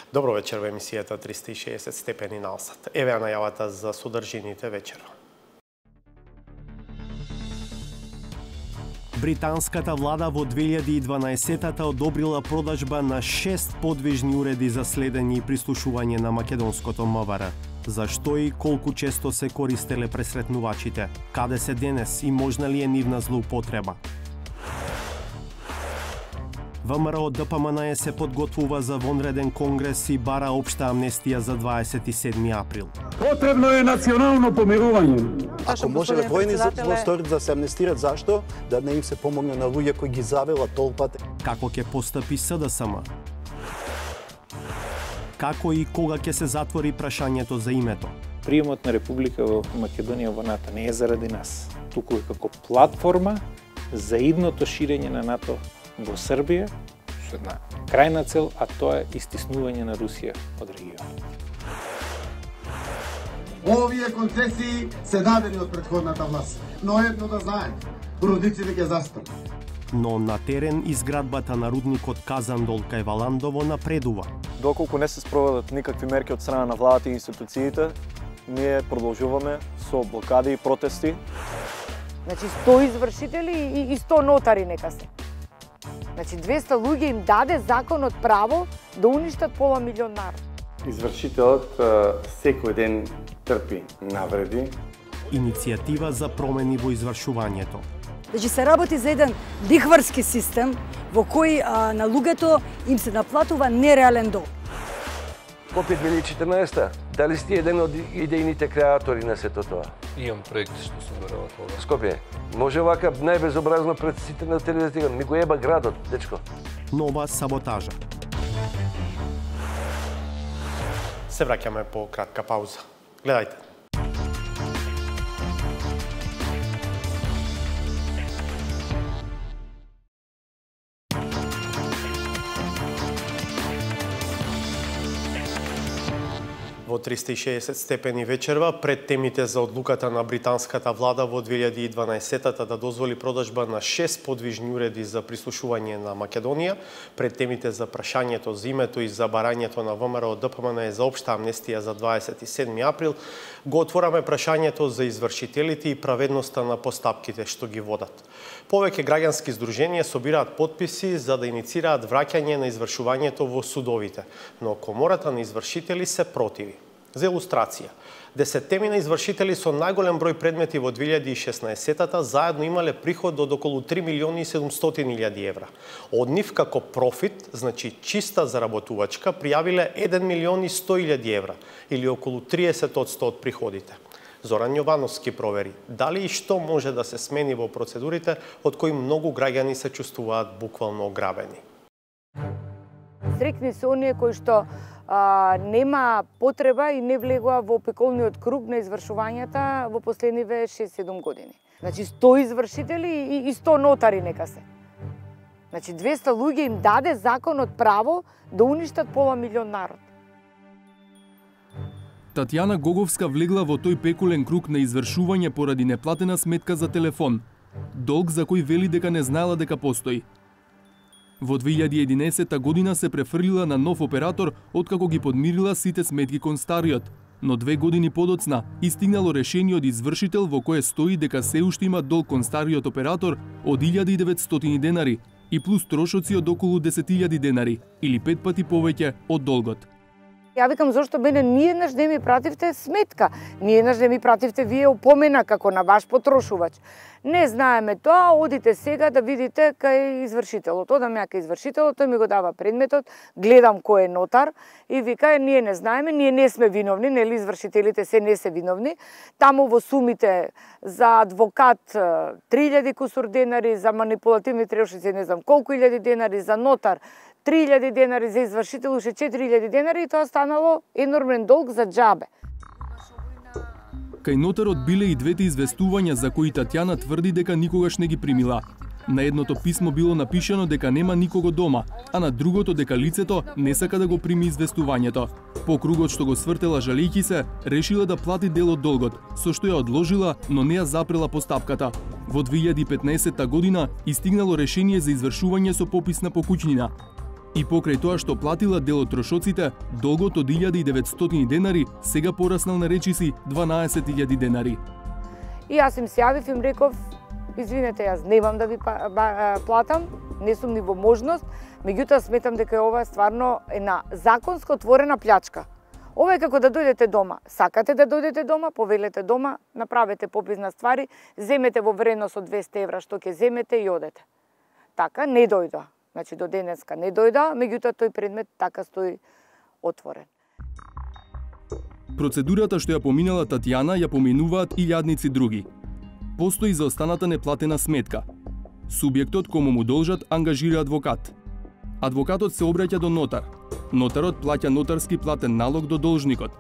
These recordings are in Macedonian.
Добро вечер во емисијата 360 степени наосад. Еве ја најавата за содржините вечерва. Британската влада во 2012-та одобрила продажба на 6 подвижни уреди за следење и прислушување на македонското МВР. Зашто и колку често се користеле пресретнувачите? Каде се денес и можна ли е нивна злоупотреба? ВМРО ДПМН се подготвува за вонреден конгрес и бара општа амнестија за 27 април. Потребно е национално помирување. Ако може војни злосторици да се амнестират, зашто? Да не им се помогне на луѓе кои ги завела толпата. Како ќе постапи СДСМ? Како и кога ќе се затвори прашањето за името? Приемот на Република во Македонија во НАТО не е заради нас, туку е како платформа за идното ширење на НАТО во Србија, со една крајна цел, а тоа е истиснување на Русија од регионот. Овие концесии се дадени од претходната власт, но едно да знаем, родиците ќе застанат. Но на терен изградбата на рудникот Казандол кај Валандово напредува. Доколку не се спроведат никакви мерки од страна на владата и институциите, ние продолжуваме со блокади и протести. Значи 100 извршители и 100 нотари нека се. Значи 200 луѓе им даде законот право да уништат пола милион народ. Извршителот секој ден трпи навреди. Иницијатива за промени во извршувањето. Значи се работи за еден лихварски систем во кој на луѓето им се наплатува нереален долг. Скопје 2014, дали сте еден од идејните креатори на сето тоа? Имам проекти што се веруват ова. Скопје, може вака најбезобразно пред сите на телевизија, ми го еба градот, дечко. Нова саботажа. Се враќаме по кратка пауза. Гледајте. Во 360 степени вечерва, пред темите за одлуката на британската влада во 2012-та да дозволи продажба на 6 подвижни уреди за прислушување на Македонија, пред темите за прашањето за името и за барањето на ВМРО ДПМН за општа амнестија за 27 април, го отвораме прашањето за извршителите и праведноста на постапките што ги водат. Повеќе граѓански здруженија собираат потписи за да иницираат враќање на извршувањето во судовите, но комората на извршители се противи. За илустрација, 10 извршители со најголем број предмети во 2016-та заедно имале приход од околу 3 милиони и 700 илјади евра. Од нив како профит, значи чиста заработувачка, пријавиле 1 милион и 100 илјади евра, или околу 30% од приходите. Зоран Јовановски провери дали и што може да се смени во процедурите од кои многу граѓани се чувствуваат буквално ограбени. Стрикни се оние кои што нема потреба и не влегува во опеколниот круг на извршувањата во последниве 6-7 години. Значи 100 извршители и 100 нотари нека се. Значи 200 луѓе им даде законот право да уништат пола милион народ. Татјана Гоговска влегла во тој пекулен круг на извршување поради неплатена сметка за телефон, долг за кој вели дека не знаела дека постои. Во 2011 година се префрлила на нов оператор откако ги подмирила сите сметки кон стариот, но 2 години подоцна истигнало решение од извршител во кое стои дека се уште има долг кон стариот оператор од 1900 денари и плюс трошоци од околу 10.000 денари или 5 пати повеќе од долгот. Ја викам зошто мене ниеднаш не ми пративте сметка, ниеднаш не ми пративте вие опомена како на ваш потрошувач. Не знаеме тоа, одите сега да видите кај извршителот. Одам ја кај извршителот, тој ми го дава предметот, гледам кој е нотар и вика ние не знаеме, ние не сме виновни, нели извршителите се не се виновни. Таму во сумите за адвокат 3000 кусур денари, за манипулативни трошици не знам колку илјади денари, за нотар 3000 денари, за извршител уште 4000 денари и тоа станало енормен долг за џабе. Кај нотарот биле и двете известувања за кои Татјана тврди дека никогаш не ги примила. На едното писмо било напишано дека нема никого дома, а на другото дека лицето не сака да го прими известувањето. По кругот што го свртела жалејќи се, решила да плати дел од долгот, со што ја одложила, но не ја запрела постапката. Во 2015 година истигнало решение за извршување со попис на покуќнина. И покрај тоа што платила дел од трошоците, долгот од 1900 денари сега пораснал на речиси 12.000 денари. И јас им се јавив, им реков, извинете, јас немам да ви платам, не сум ни во можност, меѓутоа сметам дека ова стварно е на законско отворена плячка. Ова е како да дојдете дома. Сакате да дојдете дома, повелете дома, направете попис на ствари, земете во вредност од 200 евра што ќе земете и одете. Така не дојда. Значи до денеска не дојда, меѓутоа тој предмет така стои отворен. Процедурата што ја поминала Татјана ја поминуваат илјадници други. Постои за останата неплатена сметка. Субјектот кому му должат ангажира адвокат. Адвокатот се обраќа до нотар. Нотарот плаќа нотарски платен налог до должникот.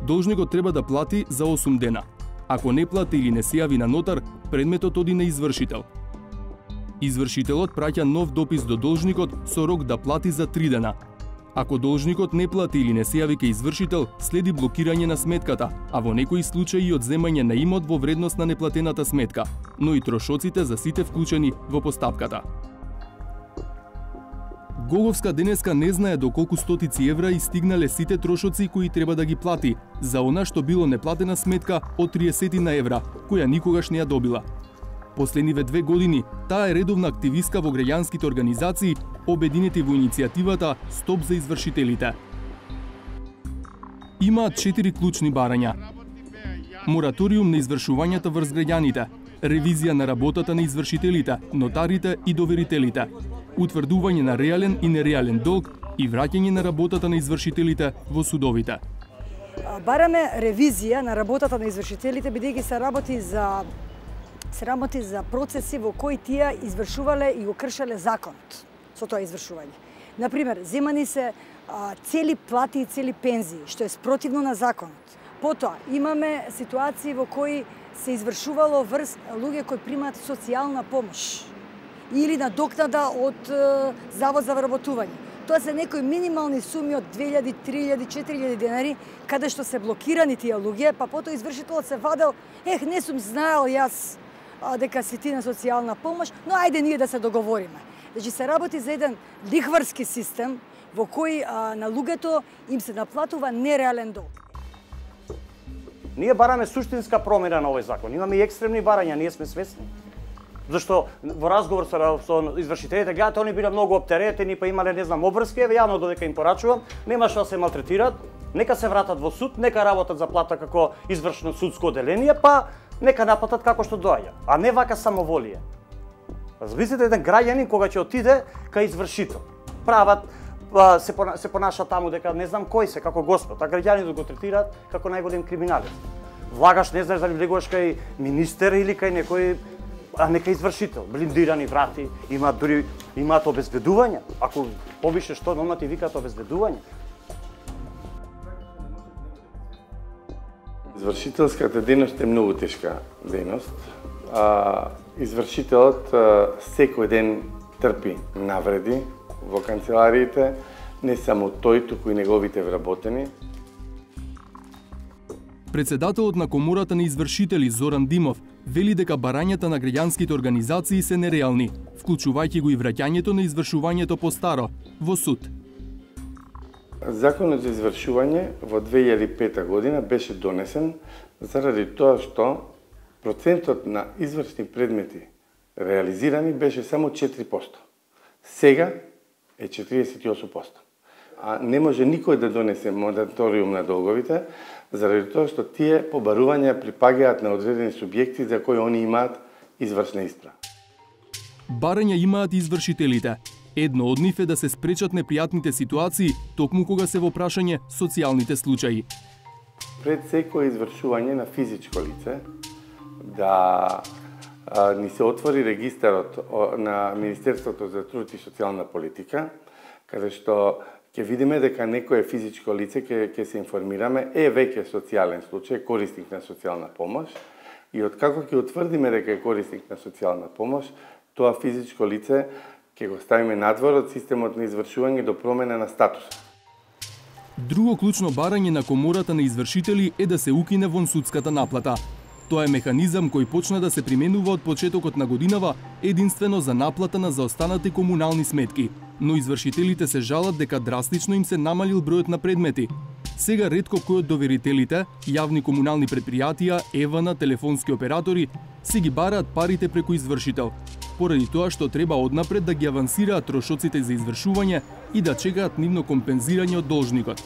Должникот треба да плати за 8 дена. Ако не плати или не се јави на нотар, предметот оди на извршител. Извршителот праќа нов допис до должникот со рок да плати за 3 дена. Ако должникот не плати или не се јави кај извршител, следи блокирање на сметката, а во некои случаи и одземање на имот во вредност на неплатената сметка, но и трошоците за сите вклучени во постапката. Гоговска денеска не знае до колку стотици евра и стигнале сите трошоци кои треба да ги плати за она што било неплатена сметка од 30 на евра, која никогаш не ја добила. Последниве 2 години, таа е редовна активистка во граѓанските организации, обединети во иницијативата Стоп за извршителите. Имаат 4 клучни барања. Мораториум на извршувањата врз граѓаните, ревизија на работата на извршителите, нотарите и доверителите, утврдување на реален и нереален долг и враќање на работата на извршителите во судовите. Бараме ревизија на работата на извршителите, бидејќи се работи за процеси во кои тие извршувале и го кршеле законот со тоа извршување. Например, земани се цели плати и цели пензии, што е спротивно на законот. Потоа, имаме ситуации во кои се извршувало врз луѓе кои примаат социјална помош или надокнада од Завод за вработување. Тоа се некои минимални суми од 2000, 3000, 4000 денари, каде што се блокирани тие луѓе, па потоа извршителот се вадел, не сум знаел јас дека си ти на социјална помош, но ајде ние да се договориме. Значи се работи за еден лихварски систем во кој на луѓето им се наплатува нереален долг. Ние бараме суштинска промена на овој закон. Имаме и екстремни барања, ние сме свесни. Зашто во разговор со извршителите, гледате, они биле многу оптеретени, па имале, не знам, обврски, јавно додека им порачувам, нема што да се малтретираат, нека се вратат во суд, нека работат за плата како извршно судско оделение, па нека наплатат како што доаѓа, а не вака самоволие. Замислите еден граѓанин кога ќе отиде кај извршител. Прават, се понаша таму дека не знам кој се, како Господ, а граѓанинот го третираат како најголем криминалец. Влагаш, не знаеш дали влегуваш кај министер или кај некој, а нека извршител, блиндирани врати, имаат обезбедување. Ако побише што, дома ти викаат обезбедување. Извршителската дејност е многу тешка дејност. Извршителот секој ден трпи навреди во канцелариите, не само тој, туку и неговите вработени. Председателот на Комората на извршители Зоран Димов вели дека барањата на граѓанските организации се нереални, вклучувајќи го и враќањето на извршувањето по старо во суд. Законот за извршување во 2005 година беше донесен заради тоа што процентот на извршни предмети реализирани беше само 4%. Сега е 48%. А не може никој да донесе мораториум на долговите, заради тоа што тие побарувања припагаат на одредени субјекти за кои они имаат извршна исправа. Барања имаат извршителите. Едно од нив е да се спречат непријатните ситуации, токму кога се во прашање социјалните случаи. Пред секој извршување на физичко лице, да ни се отвори регистарот на Министерството за труд и социјална политика, каде што ќе видиме дека некое физичко лице, ќе се информираме, е веќе социјален случај, корисник на социјална помош, и откако ќе утврдиме дека е корисник на социјална помош, тоа физичко лице ќе го ставиме надвор од системот на извршување до промена на статус. Друго клучно барање на Комората на извршители е да се укине вонсудската наплата. Тоа е механизам кој почна да се применува од почетокот на годинава единствено за наплата на заостанати комунални сметки, но извршителите се жалат дека драстично им се намалил бројот на предмети. Сега ретко кој од доверителите, јавни комунални предпријатија, ЕВН, телефонски оператори, си ги бараат парите преку извршител, поради тоа што треба однапред да ги авансираат трошоците за извршување и да чекаат нивно компензирање од должникот.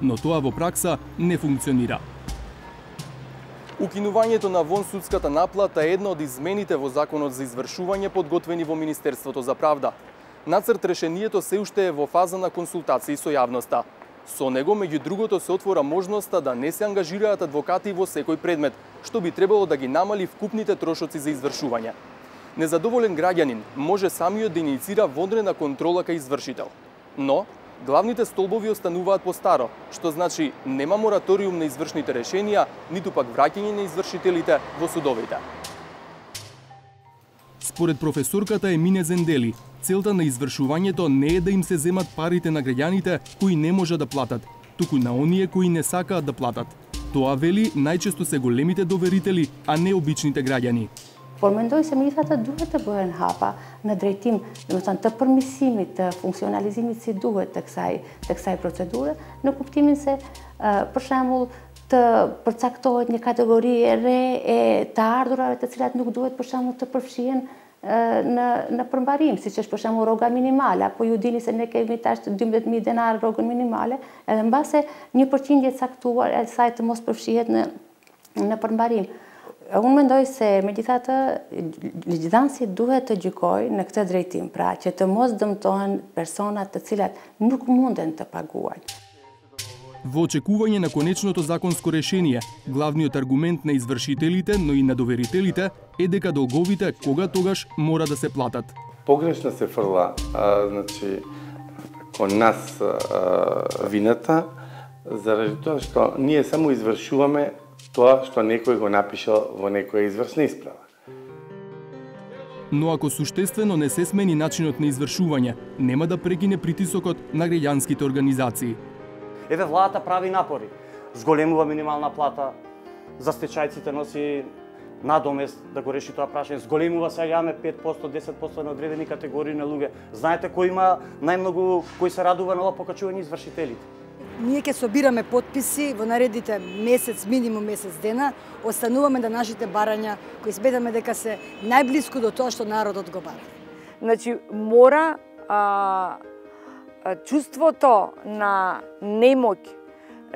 Но тоа во пракса не функционира. Укинувањето на вонсудската наплата е една од измените во Законот за извршување подготвени во Министерството за правда. Нацрт решението се уште е во фаза на консултации со јавноста. Со него, меѓу другото, се отвора можноста да не се ангажираат адвокати во секој предмет, што би требало да ги намали вкупните трошоци за извршување. Незадоволен граѓанин може самиот да иницира вонредна контрола кај извршител. Но, главните столбови остануваат по старо, што значи нема мораториум на извршните решенија, ниту пак враќање на извршителите во судовите. Според професорката Емине Зендели, целта на извршувањето не е да им се земат парите на граѓаните кои не можат да платат, туку на оние кои не сакаат да платат. Тоа, вели, најчесто се големите доверители, а не обичните граѓани. Por mendoj se ministrata duhet të bëhen hapa në drejtim, domethënë të përmirësimit, të funksionalizimit si duhet të kësaj procedure, në kuptimin se për shembull të përcaktohet një kategori e re e të ardhurave të cilat nuk duhet për shembull të përfshihen në përmbarim, siç është për shembull rroga minimale, apo ju dini se ne kemi tash 12.000 denar rrogën minimale, edhe mbase një përqindje e caktuar e saj të mos përfshihet në përmbarim. Unë mendoj se megjithatë legjidhanësi duhet të gjykojë në këtë drejtim, pra që të mos dëmtohen personat të cilat nuk munden të paguajnë. Во очекување на конечното законско решение, главниот аргумент на извршителите, но и на доверителите е дека долговите кога-тогаш мора да се платат. Погрешно се фрла, значи, кон нас вината, заради тоа што ние само извршуваме тоа што некој го напишал во некоја извршна исправа. Но ако суштествено не се смени начинот на извршување, нема да прекине притисокот на граѓанските организации. Еве владата прави напори, зголемува минимална плата, за стечајците носи надомест да го реши тоа прашање, зголемува сега 5%, 10% на одредени категории на луѓе. Знаете кој има најмногу, кој се радува на ова покачување извршителите? Ние ќе собираме потписи во наредните месец, минимум месец дена, остануваме да нашите барања, кои сметаме дека се најблиску до тоа што народот го бара. Значи, мора чувството на немоќ,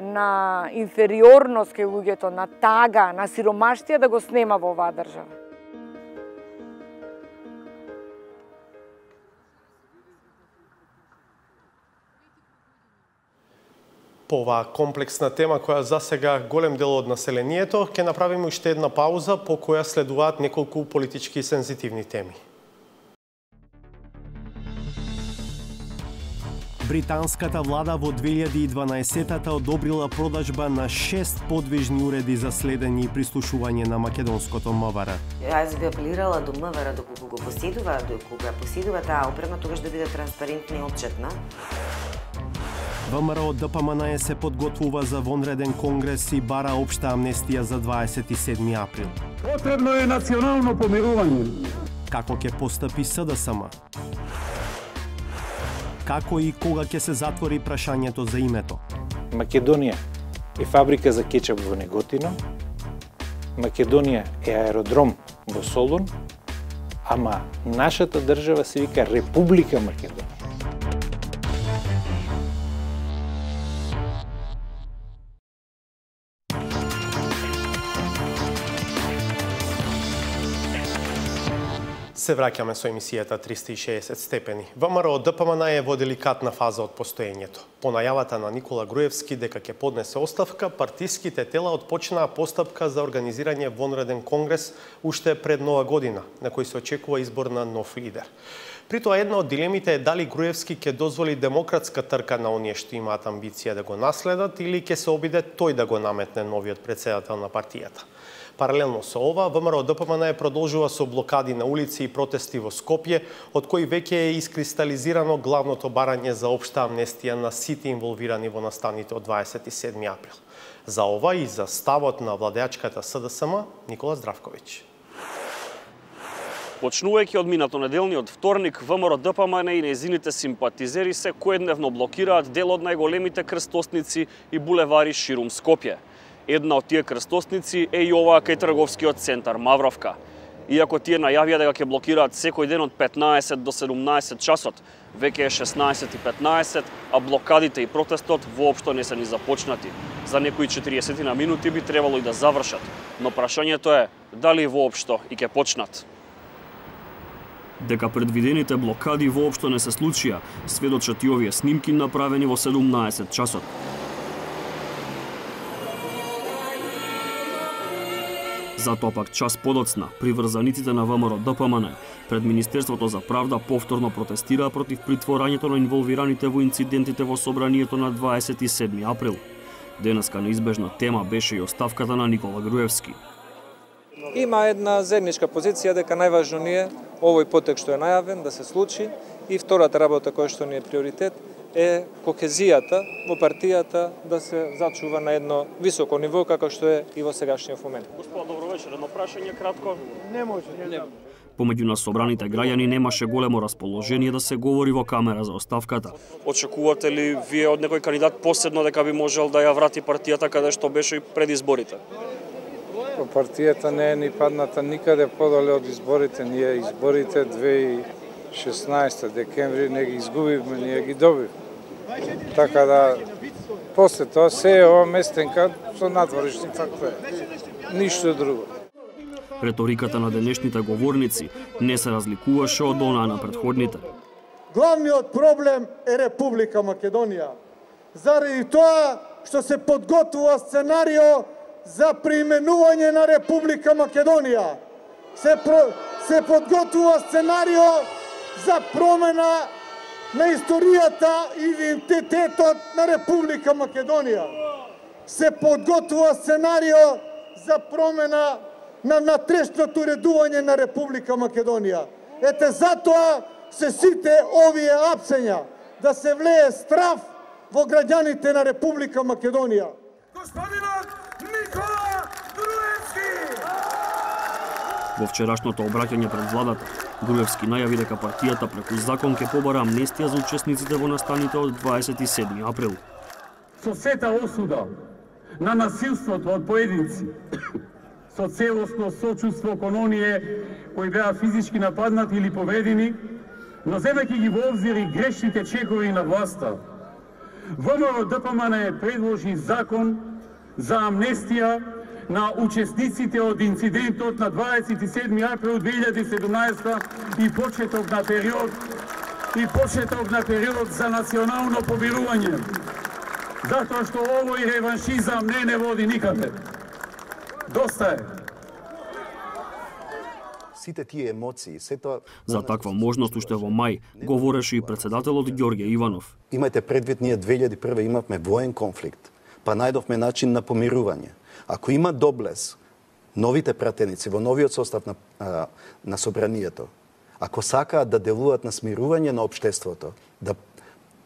на инфериорност кај луѓето, на тага, на сиромаштија да го снема во оваа држава. По оваа комплексна тема која засега голем дел од населението, ќе направиме уште една пауза по која следуваат неколку политички сензитивни теми. Британската влада во 2012-та одобрила продажба на 6 подвижни уреди за следење и прислушување на македонското МВР. Јас би апелирала до МВР доколку го поседува, доколку ја поседува таа опрема, тогаш да биде транспарентна и отчетна. ВМРО ДПМН се подготвува за вонреден конгрес и бара општа амнестија за 27 април. Потребно е национално помирување. Како ќе постапи СДСМ? Како и кога ќе се затвори прашањето за името? Македонија е фабрика за кетчап во Неготино, Македонија е аеродром во Солун, ама нашата држава се вика Република Македонија. Се враќаме со емисијата 360 степени. ВМРО ДПМН е во деликатна фаза од постоењето. По најавата на Никола Груевски дека ќе поднесе оставка, партиските тела отпочнаа постапка за организирање вонреден конгрес уште пред нова година, на кој се очекува избор на нов лидер. При тоа една од дилемите е дали Груевски ќе дозволи демократска трка на оние што имаат амбиција да го наследат или ќе се обиде тој да го наметне новиот претседател на партијата. Паралелно со ова, ВМРО-ДПМН продолжува со блокади на улици и протести во Скопје, од кои веќе е искристализирано главното барање за општа амнестија на сите инволвирани во настаните од 27 април. За ова и за ставот на владеачката СДСМ, Никола Здравковиќ. Почнувајќи од минатонеделниот вторник, ВМРО-ДПМН и нејзините симпатизери се коедневно блокираат дел од најголемите крстосници и булевари ширум Скопје. Една од тие крстосници е и оваа кај трговскиот центар Мавровка. Иако тие најавија дека ќе блокираат секој ден од 15 до 17 часот, веќе е 16:15, а блокадите и протестот воопшто не се ни започнати. За некои 40 на минути би требало и да завршат, но прашањето е дали воопшто и ќе почнат. Дека предвидените блокади воопшто не се случија, сведочат и овие снимки направени во 17 часот. Затоа пак час подоцна, приврзаниците на ВМРО-ДПМН пред Министерството за правда повторно протестираа против притворањето на инволвираните во инцидентите во собранието на 27 април. Денеска неизбежна тема беше и оставката на Никола Груевски. Има една заедничка позиција дека најважно ни е овој потек што е најавен да се случи и втората работа која што ни е приоритет е кохезијата во партијата да се зачува на едно високо ниво како што е и во сегашниот момент. Господа, добро вечер. Едно прашање кратко. Не може. Помеѓу нас собраните граѓани немаше големо расположение да се говори во камера за оставката. Очекувате ли вие од некој кандидат посебно дека би можел да ја врати партијата каде што беше и пред изборите? Партијата не е ни падната никаде подале од изборите. Ние изборите 2016 декември не ги изгубивме, ние ги добивме. Така да, после тоа се е ова местенка со надворешни фактори. Ништо друго. Реториката на денешните говорници не се разликуваше од онаа на предходните. Главниот проблем е Република Македонија. Заради тоа што се подготвува сценарио за преименување на Република Македонија. Се подготвува сценарио за промена на историјата и идентитетот на Република Македонија. Се подготвува сценарио за промена на натрешното редување на Република Македонија. Ете затоа се сите овие апсења да се влее страв во граѓаните на Република Македонија. Господинот Никола Груевски! Во вчерашното обраќање пред владата, Груевски најави дека партијата преку закон ќе побара амнестија за учесниците во настаните од 27 април. Со сета осуда на насилството од поединци, со целосно сочувство кон оние кои беа физички нападнати или повредени, но земајќи ги во обзир и грешните чекови на власта, ВМРО-ДПМН предложи закон за амнестија на учесниците од инцидентот на 27 април 2017 и почеток на период за национално помирување. Затоа што овој реваншизам не води никаде. Доста е. Сите тие емоции, сето... За таква можност уште во мај говореше и председателот Ѓорѓе Иванов. Имајте предвид, ние 2001 имавме воен конфликт, па најдовме начин на помирување. Ако има доблес, новите пратеници во новиот состав на собранието, ако сакаат да делуваат на смирување на општеството,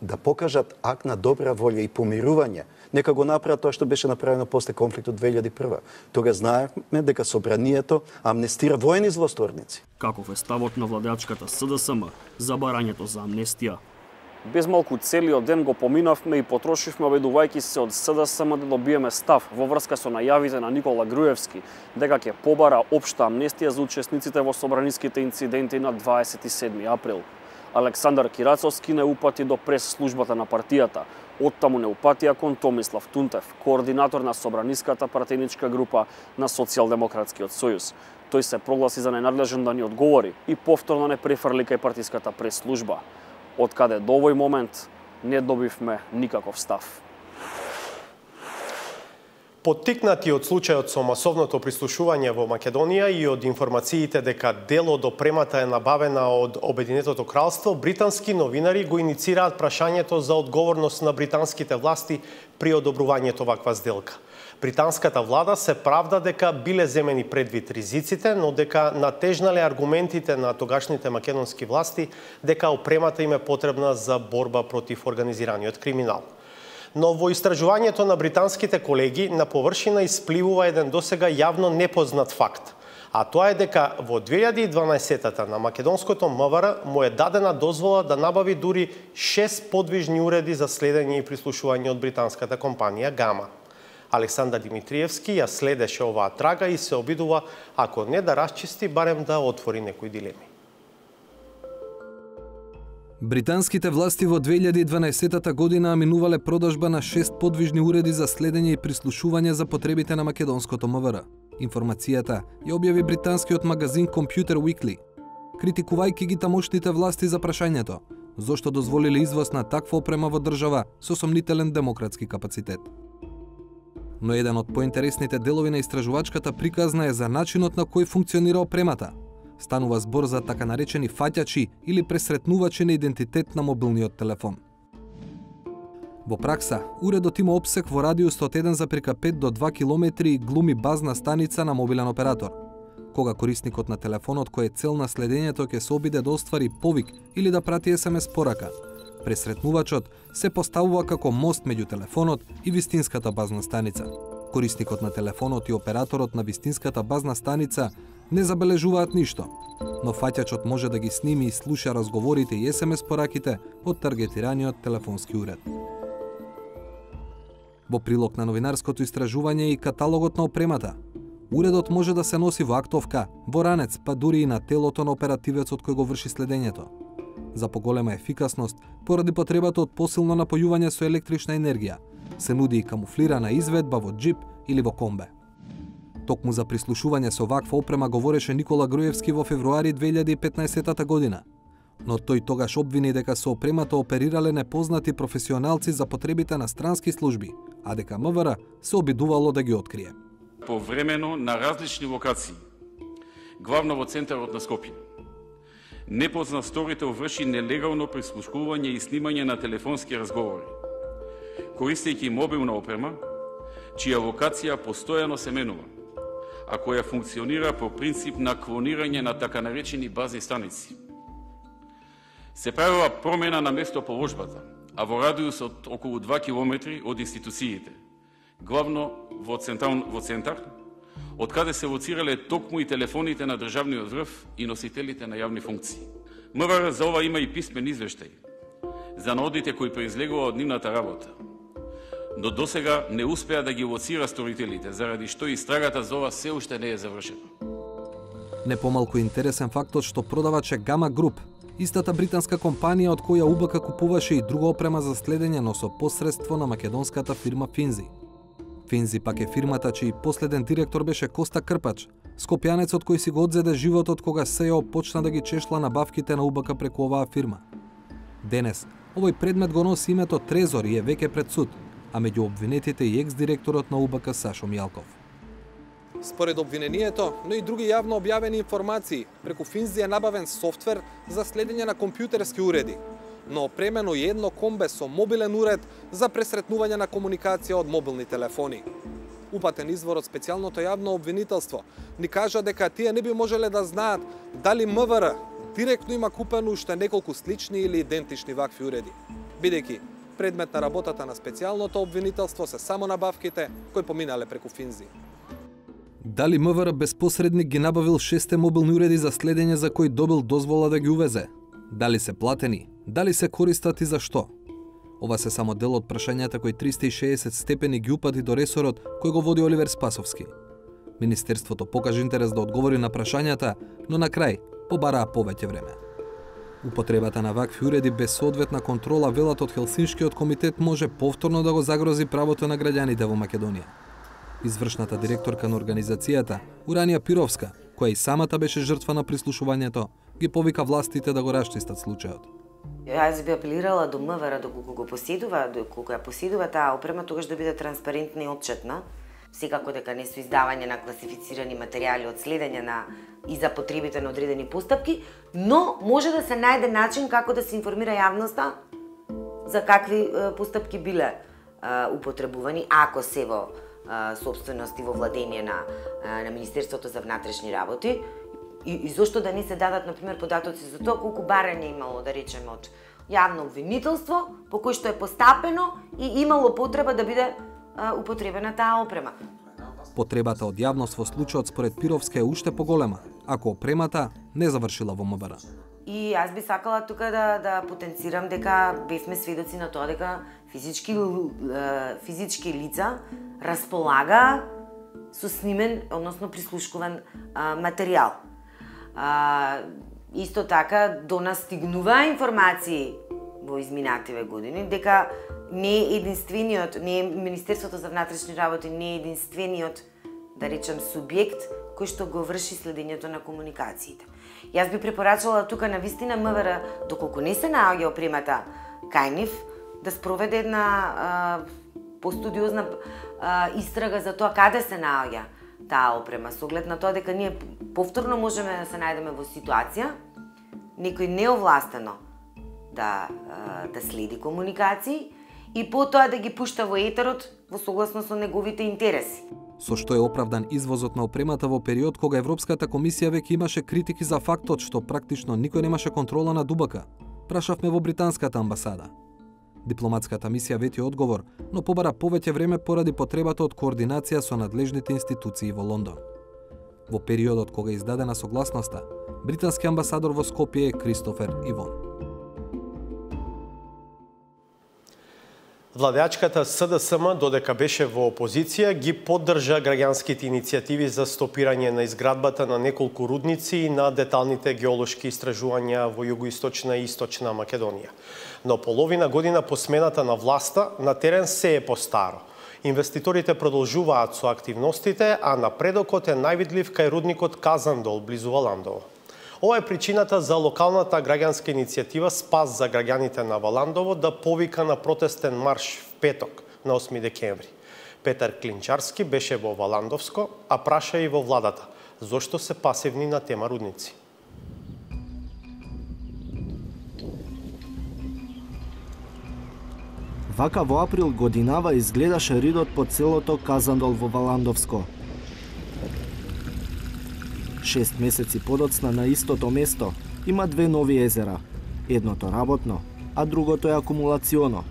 да покажат акт на добра волја и помирување, нека го направат тоа што беше направено после конфликтот 2001. Тога знаевме дека собранието амнестира воени злосторници. Каков е ставот на владеачката СДСМ за барањето за амнестија? Без малку целиот ден го поминавме и потрошивме обидувајќи се од СДСМ да добиеме став во врска со најавите на Никола Груевски дека ќе побара општа амнестија за учесниците во собраниските инциденти на 27 април. Александар Кирацовски не упати до прес-службата на партијата, оттаму не упатија кон Томислав Тунтев, координатор на собраниската партеничка група на Социјалдемократскиот сојуз. Тој се прогласи за ненадлежен да ни одговори и повторно не префрли кај партиската прес-служба. Од каде до овој момент не добивме никаков став. Поттикнати од случајот со масовното прислушување во Македонија и од информациите дека дел од опремата е набавена од Обединетото кралство, британски новинари го иницираат прашањето за одговорност на британските власти при одобрувањето ваква сделка. Британската влада се правда дека биле земени предвид ризиците, но дека натежнале аргументите на тогашните македонски власти дека опремата им е потребна за борба против организираниот криминал. Но во истражувањето на британските колеги на површина испливува еден досега јавно непознат факт, а тоа е дека во 2012-та на македонското МВР му е дадена дозвола да набави дури 6 подвижни уреди за следење и прислушување од британската компанија Гама. Александар Димитриевски ја следеше оваа трага и се обидува, ако не да расчисти, барем да отвори некои дилеми. Британските власти во 2012 година аминувале продажба на 6 подвижни уреди за следење и прислушување за потребите на македонското МВР. Информацијата ја објави британскиот магазин Computer Weekly, критикувајќи ги тамошните власти за прашањето зошто дозволиле извоз на таква опрема во држава со сомнителен демократски капацитет. Но еден од поинтересните делови на истражувачката приказна е за начинот на кој функционира опремата. Станува збор за така наречени фаќачи или пресретнувачи на идентитет на мобилниот телефон. Во пракса, уредот има опсек во радиус од 1,5 до 2 км и глуми базна станица на мобилен оператор. Кога корисникот на телефонот кој е цел на следењето ќе се обиде да оствари повик или да прати SMS порака, пресретнувачот се поставува како мост меѓу телефонот и вистинската базна станица. Корисникот на телефонот и операторот на вистинската базна станица не забележуваат ништо, но фаќачот може да ги сними и слуша разговорите и SMS пораките од таргетираниот телефонски уред. Во прилог на новинарското истражување и каталогот на опремата, уредот може да се носи во актовка, во ранец, па дури и на телото на оперативецот кој го врши следењето. За поголема ефикасност, поради потребата од посилно напојување со електрична енергија, се нуди и камуфлирана изведба во джип или во комбе. Токму за прислушување со ваква опрема говореше Никола Груевски во февруари 2015 година, но тој тогаш обвини дека со опремата оперирале непознати професионалци за потребите на странски служби, а дека МВР се обидувало да ги открие. Повремено на различни локации, главно во центарот на Скопје, непознат сторител врши нелегално прислушкување и снимање на телефонски разговори, користејќи мобилна опрема, чија локација постојано се менува, а која функционира по принцип на клонирање на така наречени базни станици. Се правила промена на местоположбата, а во радиус од околу 2 км од институциите, главно во центар, од каде се лоцирале токму и телефоните на државниот врв и носителите на јавни функции. МВР за ова има и писмен извештај за наодите кои произлегува од нивната работа, но досега не успеа да ги лоцира сторителите, заради што истрагата за ова се уште не е завршена. Не помалку интересен фактот што продаваче Гама Груп, истата британска компанија од која УБК купуваше и друга опрема за следење, но со посредство на македонската фирма Финзи. Финзи пак е фирмата чиј последен директор беше Коста Крпач, скопјанецот кој си го одзеде животот кога СЕО почна да ги чешла набавките на УБК преку оваа фирма. Денес, овој предмет го носи името Трезор и е веќе пред суд, а меѓу обвинетите и екс-директорот на УБК Сашо Мјалков. Според обвинението, но и други јавно објавени информации, преку Финзи е набавен софтвер за следење на компјутерски уреди, но опремено и едно комбе со мобилен уред за пресретнување на комуникација од мобилни телефони. Упатен извор од специјалното јавно обвинителство ни кажа дека тие не би можеле да знаат дали МВР директно има купено уште неколку слични или идентични вакви уреди, бидејќи предмет на работата на специјалното обвинителство се само набавките кои поминале преку Финзи. Дали МВР без посредник ги набавил 6 мобилни уреди за следење за кои добил дозвола да ги увезе? Дали се платени? Дали се користат и за што? Ова се само дел од прашањата кои 360 степени ги упати до ресорот кој го води Оливер Спасовски. Министерството покажа интерес да одговори на прашањата, но на крај побараа повеќе време. Употребата на вакви уреди без соодветна контрола, велат од Хелсиншкиот комитет, може повторно да го загрози правото на граѓаните во Македонија. Извршната директорка на организацијата, Уранија Пировска, која и самата беше жртва на прислушувањето, ги повика властите да го расчистат случајот. Јас би апелирала до МВР доколку го поседува, доколку ја поседува таа опрема, тогаш да биде транспарентна и отчетна. Секако дека не со издавање на класифицирани материјали од следење на и за потребите на одредени постапки, но може да се најде начин како да се информира јавноста за какви постапки биле употребувани, ако се во собственост и во владење на Министерството за внатрешни работи. И зошто да не се дадат, например, податоци за тоа колку барање имало, да речеме, од јавно обвинителство, по кој што е постапено и имало потреба да биде употребена таа опрема. Потребата од јавност во случајот според Пировска е уште поголема, ако опремата не завршила во МВР. И аз би сакала тука да потенцирам дека бевме сведоци на тоа дека физички лица располага со снимен, односно прислушкуван материјал. Исто така до нас стигнува информации во изминативе години дека не е единствениот, не е Министерството за внатрешни работи не е единствениот, да речем, субјект кој што го врши следењето на комуникациите. Јас би препорачала тука на вистина МВР, доколку не се наоѓа опремата кај нив, да спроведе една постудиозна истрага за тоа каде се наоѓа таа опрема, со оглед на тоа дека ние повторно можеме да се најдеме во ситуација некој неовластено да следи комуникации и потоа да ги пушта во етерот во согласно со неговите интереси. Со што е оправдан извозот на опремата во период кога Европската комисија веќе имаше критики за фактот што практично никој немаше контрола на ДУБК, прашавме во британската амбасада. Дипломатската мисија вети одговор, но побара повеќе време поради потребата од координација со надлежните институции во Лондон. Во периодот кога е издадена согласноста, британски амбасадор во Скопје е Кристофер Ивон. Владеачката СДСМ, додека беше во опозиција, ги поддржа граѓанските иницијативи за стопирање на изградбата на неколку рудници и на деталните геолошки истражувања во југоисточна и источна Македонија. Но половина година по смената на власта, на терен се е постаро. Инвеститорите продолжуваат со активностите, а напредокот е највидлив кај рудникот Казандол, близу Валандово. Ова е причината за локалната граѓанска иницијатива Спас за граѓаните на Валандово да повика на протестен марш в петок, на 8 декември. Петар Клинчарски беше во Валандовско, а праша и во владата зошто се пасивни на тема рудници. Вака во април годинава изгледаше ридот по целото Казандол во Валандовско. 6 месеци подоцна на истото место има две нови езера. Едното работно, а другото е акумулационо.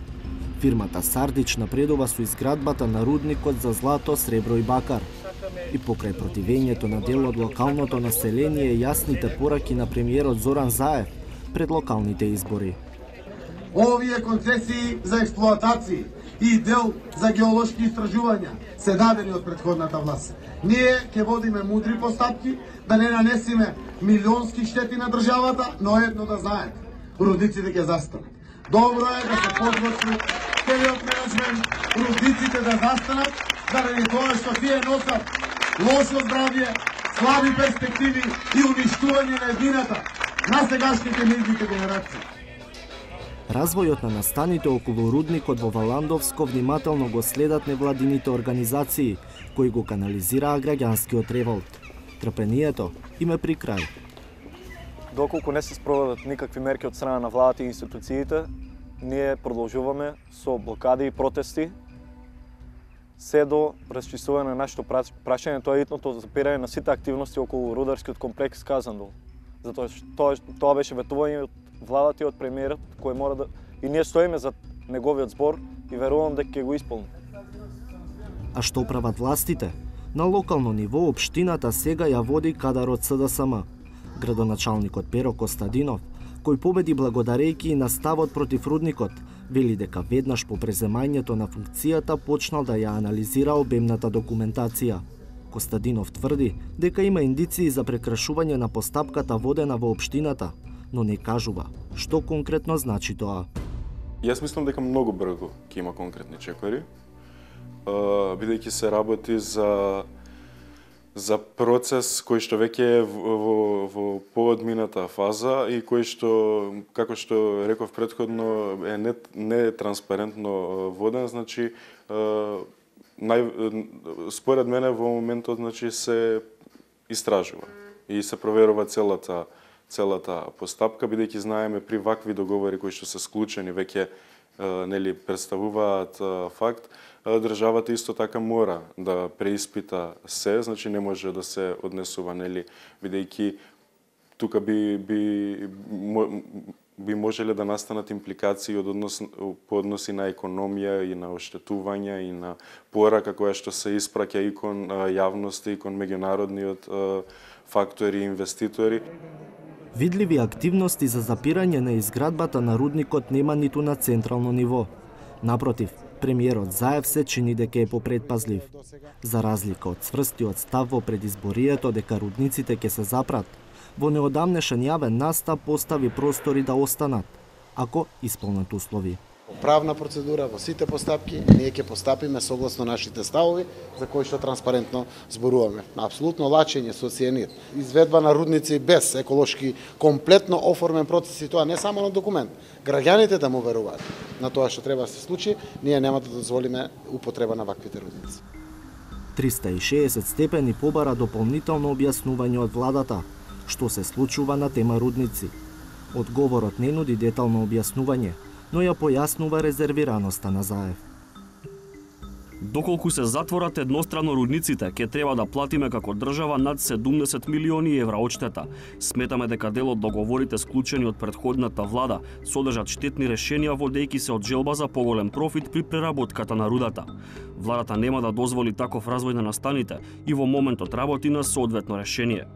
Фирмата Сардич напредува со изградбата на рудникот за злато, сребро и бакар. И покрај противењето на дел од локалното население јасните пораки на премиерот Зоран Заев пред локалните избори. Овие концесии за експлоатации и дел за геолошки истражувања се дадени од претходната власт. Ние ќе водиме мудри постапки да не нанесиме милионски штети на државата, но едно да знаете, рудниците ќе застанат. Добро е да се подготви целиот менеджмент, рудниците да застанат, заради тоа што тие носат лошо здравје, слаби перспективи и уништување на едината на сегашните младите генерации. Развојот на настаните околу рудникот во Валандовско внимателно го следат невладините организации, кои го канализираа граѓанскиот револт. Трпението им е при крај. Доколку не се спроведат никакви мерки од страна на владата и институциите, ние продолжуваме со блокади и протести се до расчистување на нашето прашање, тоа е итното запирање на сите активности околу рударскиот комплекс Казандол. Затоа тоа беше ветување од владата и од премиерот кој мора да и ние стоиме за неговиот збор и верувам дека ќе го исполни. А што прават властите? На локално ниво општината сега ја води кадарот СДСМ. Градоначалникот Перо Костадинов, кој победи благодарејќи и на ставот против рудникот, вели дека веднаш по преземањето на функцијата почнал да ја анализира обемната документација. Костадинов тврди дека има индиции за прекрашување на постапката водена во општината, но не кажува што конкретно значи тоа. Јас мислам дека многу брзо ќе има конкретни чекори, бидејќи се работи за процес кој што веќе е во поодмината фаза и кој што, како што реков претходно, е не транспарентно воден, значи според мене во моментот значи се истражува и се проверува целата постапка, бидејќи знаеме при вакви договори кои што се склучени веќе нели представуваат факт, државата исто така мора да преиспита се, значи не може да се однесува, нели, бидејќи тука би можеле да настанат импликации по односи на економија и на оштетувања и на порака која што се испраќа и кон јавноста и кон меѓународниот фактори и инвеститори. Видливи активности за запирање на изградбата на рудникот нема ниту на централно ниво. Напротив, премиерот Заев се чини дека е попредпазлив. За разлика од цврстиот став во предизборието дека рудниците ќе се запрат, во неодамнешен јавен настап постави простори да останат, ако исполнат услови. Правна процедура во сите постапки, ние ќе постапиме согласно нашите ставови, за кои што транспарентно зборуваме. Апсолутно лачење со цијанид, изведба на рудници без еколошки комплетно оформен процес, и тоа не само на документ. Граѓаните да му веруваат на тоа што треба да се случи, ние нема да дозволиме употреба на ваквите рудници. 360 степени побара дополнително објаснување од владата, што се случува на тема рудници. Одговорот не нуди детално објаснување, но ја појаснува резервираноста на Заев. Доколку се затворат еднострано рудниците, ќе треба да платиме како држава над 70 милиони евра одштета. Сметаме дека дел од договорите склучени од претходната влада содржат штетни решенија водејќи се од желба за поголем профит при преработката на рудата. Владата нема да дозволи таков развој на настаните и во моментот работи на соодветно решение.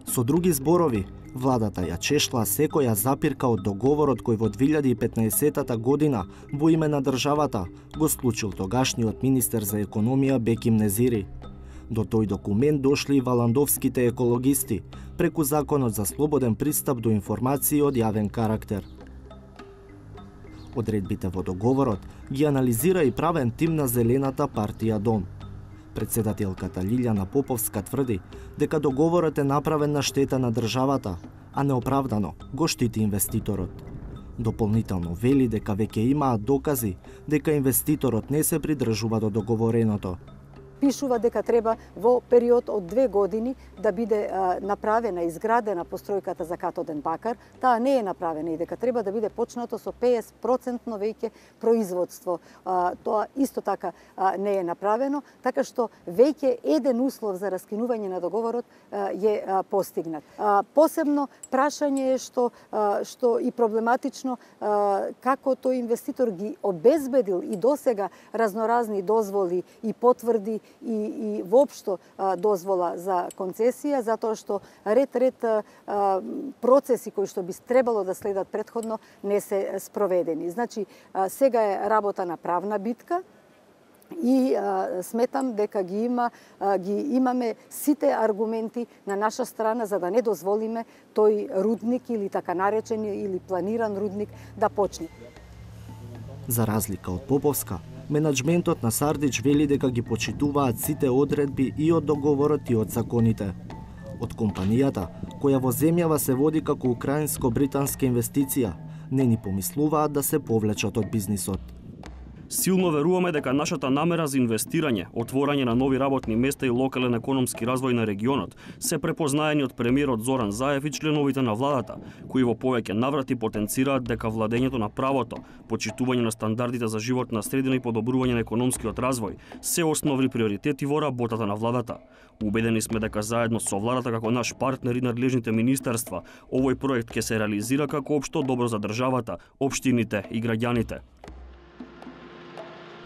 Со други зборови, владата ја чешла секоја запирка од договорот кој во 2015 година во име на државата го склучил тогашниот министер за економија Беким Незири. До тој документ дошли и валандовските екологисти преку Законот за слободен пристап до информации од јавен карактер. Одредбите во договорот ги анализира и правен тим на Зелената партија Дом. Председателката Лилјана Поповска тврди дека договорот е направен на штета на државата, а неоправдано го штити инвеститорот. Дополнително вели дека веќе имаат докази дека инвеститорот не се придржува до договореното. Пишува дека треба во период од 2 години да биде направена, изградена постројката за катоден бакар. Таа не е направена и дека треба да биде почнато со 50% веќе производство. Тоа исто така не е направено, така што веќе еден услов за раскинување на договорот е постигнат. Посебно прашање е што и проблематично како тој инвеститор ги обезбедил и досега разноразни дозволи и потврди и воопшто дозвола за концесија, затоа што ред процеси кои што би требало да следат претходно не се спроведени. Значи, сега е работа на правна битка и сметам дека ги имаме сите аргументи на наша страна за да не дозволиме тој рудник или така наречен или планиран рудник да почне. За разлика од Поповска, менаџментот на Сардич вели дека ги почитуваат сите одредби и од договорот и од законите. Од компанијата, која во земјава се води како украинско-британска инвестиција, не ни помислуваат да се повлечат од бизнисот. Силно веруваме дека нашата намера за инвестирање, отворање на нови работни места и локален економски развој на регионот се препознаени од премиерот Зоран Заев и членовите на владата, кои во повеќе наврати потенцираат дека владењето на правото, почитување на стандардите за животна средина и подобрување на економскиот развој се основни приоритети во работата на владата. Убедени сме дека заедно со владата како наш партнер и надлежните министерства, овој проект ќе се реализира како општо добро за државата, општините и граѓаните.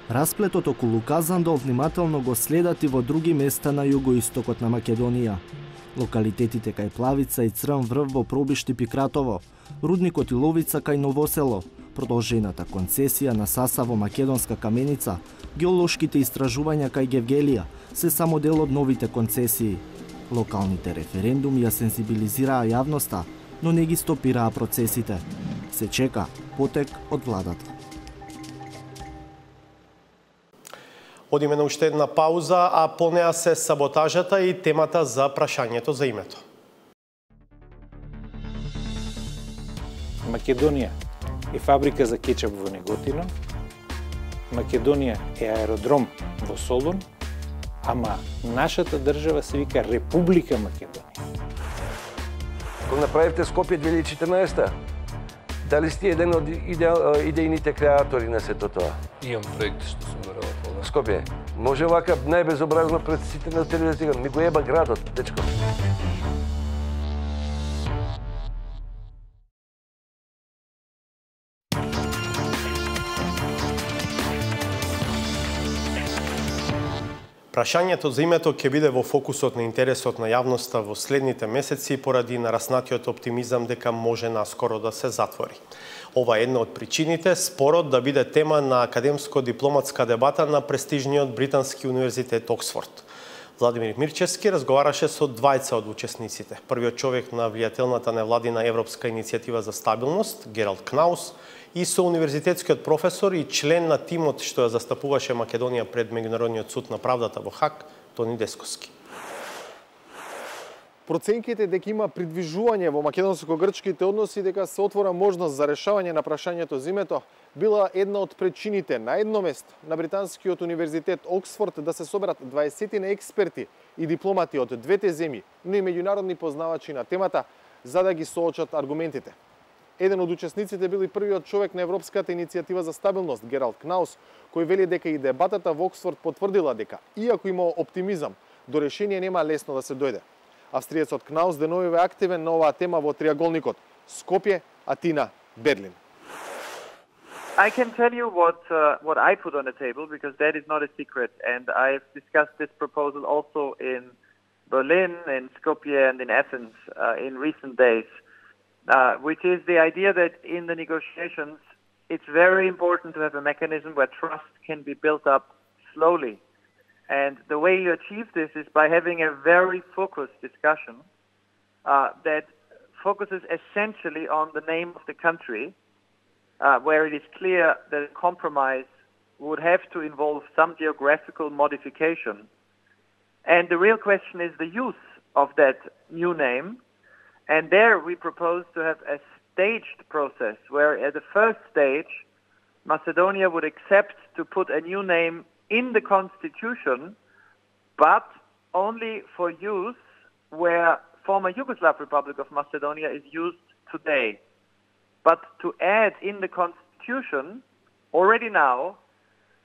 Расплетот околу Казандол внимателно го следат и во други места на југоистокот на Македонија. Локалитетите кај Плавица и Црн врв во Пробишти Пикратово, рудникот Иловица кај Новосело, продолжената концесија на Саса во Македонска Каменица, геолошките истражувања кај Гевгелија се само дел од новите концесии. Локалните референдуми ја сензибилизираа јавноста, но не ги стопираа процесите. Се чека потек од владата. Одиме на уште една пауза, а по неа се саботажата и темата за прашањето за името. Македонија е фабрика за кетчап во Неготино, Македонија е аеродром во Солун, ама нашата држава се вика Република Македонија. Кога направивте Скопје 2014, Дали сте еден од идејните креатори на сето тоа? Имам проект што сум го работел. Скопје, може вака најбезобразно пред сите на телевизија, ми го еба градот, дечко. Прашањето за името ќе биде во фокусот на интересот на јавноста во следните месеци поради нараснатиот оптимизам дека може наскоро да се затвори. Ова е една од причините спорот да биде тема на академско-дипломатска дебата на престижниот британски универзитет Оксфорд. Владимир Мирчевски разговараше со двајца од учесниците. Првиот човек на влијателната невладина Европска иницијатива за стабилност, Гералд Кнаус, и со универзитетскиот професор и член на тимот што ја застапуваше Македонија пред Меѓународниот суд на правдата во Хаг, Тони Десковски. Проценките дека има придвижување во македонско-грчките односи дека се отвора можност за решавање на прашањето за името била една од причините на едно место на британскиот универзитет Оксфорд да се соберат 20 експерти и дипломати од двете земји, но и меѓународни познавачи на темата за да ги соочат аргументите. Еден од учесниците бил и првиот човек на Европската иницијатива за стабилност, Гералд Кнаус, кој вели дека и дебатата во Оксфорд потврдила дека, иако има оптимизам, до решение нема лесно да се дојде. Австриецот Кнаус деновиве активен на оваа тема во триаголникот Скопје, Атина, Берлин. I can tell you what I put on the table because that is not a secret, and I've discussed this proposal also in Berlin, in Skopje, and in Athens in recent days. Which is the idea that in the negotiations, it's very important to have a mechanism where trust can be built up slowly. And the way you achieve this is by having a very focused discussion that focuses essentially on the name of the country, where it is clear that a compromise would have to involve some geographical modification. And the real question is the use of that new name. And there we propose to have a staged process where at the first stage, Macedonia would accept to put a new name in the constitution, but only for use where former Yugoslav Republic of Macedonia is used today. But to add in the constitution already now